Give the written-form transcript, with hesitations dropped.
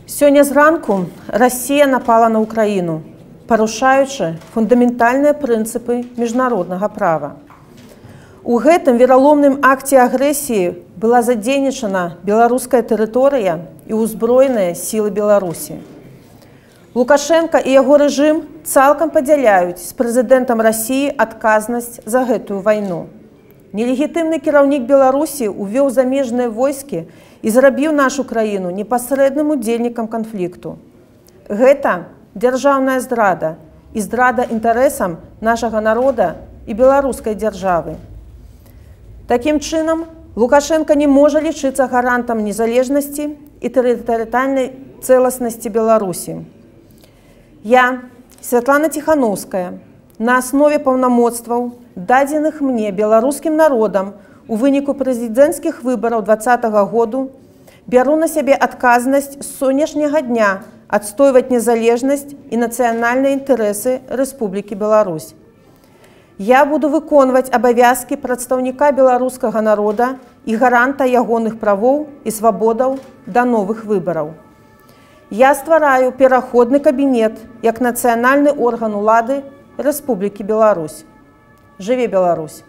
Сёння зранку Расія напала на Украіну, парушаючы фундаментальныя прынцыпы міжнароднага права. У гэтым вераломным акце агрэсіі была задзейнічана беларуская тэрыторыя і ўзброеныя сілы Беларусі. Лукашенко і яго рэжым цалкам падзяляюць з прэзідэнтам Расіі адказнасць за гэтую вайну. Нелегітымны кіраўнік Беларусі увёў замежныя войскі і зрабіў нашу краіну непасрэдным удзельнікам канфлікту. Гэта дзяржаўная здрада і здрада інтарэсам нашага народа і беларускай дзяржавы. Такім чынам, Лукашенко не можа лічыцца гарантам незалежнасці і тэрытарыяльнай цэласнасці Беларусі. Я, Святлана Ціхановская, на аснове паўнамоцтваў, дадзеных мне беларускім народам у выніку прэзідэнцкіх выбараў 2020 году, бяру на сябе адказнасць з сённяшняга дня адстойваць незалежнасць і нацыянальныя інтарэсы Рэспублікі Беларусь. Я буду выконваць абавязкі прадстаўніка беларускага народа і гаранта ягоных правоў і свабодаў да новых выбараў. Я ствараю пераходны кабінет як нацыянальны орган улады Рэспублікі Беларусь. Жыве Беларусь!